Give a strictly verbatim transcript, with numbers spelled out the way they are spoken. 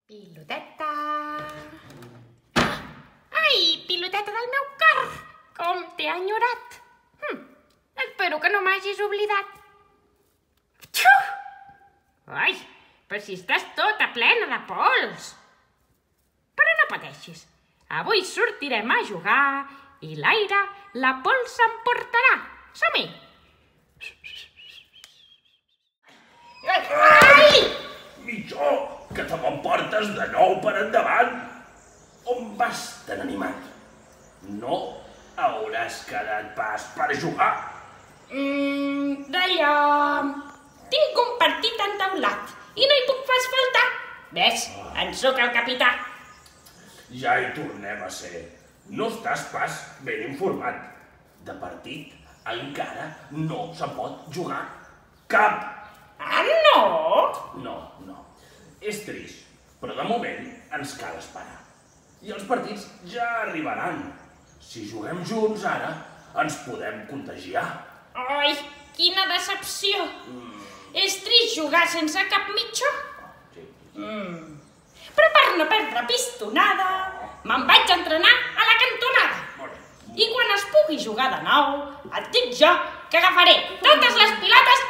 Piloteta! Ai, piloteta del meu cor! Com t'he enyorat! Hm, espero que no m'hagis oblidat. Txu! Ai, però si estàs tota plena de pols! Però no pateixis, avui sortirem a jugar i l'aire la pols s'emportarà. Som-hi! Ai! Mitjó, que te m'emportes de nou per endavant. On vas tan animat? No hauràs quedat pas per jugar. Mmm, d'allò... Tinc un partit entaulat i no hi puc pas faltar. Ves, en sóc el capità. Ja hi tornem a ser. No estàs pas ben informat. De partit encara no se pot jugar cap. Ah, no? No, no. És trist, però de moment ens cal esperar. I els partits ja arribaran. Si juguem junts ara, ens podem contagiar. Ai, quina decepció. Mm. És trist jugar sense cap mitjó. Sí. Mm. Però per no perdre pistonada, me'n vaig entrenar a la cantonada. Molt bé. I quan es pugui jugar de nou, et dic jo que agafaré totes les pilotes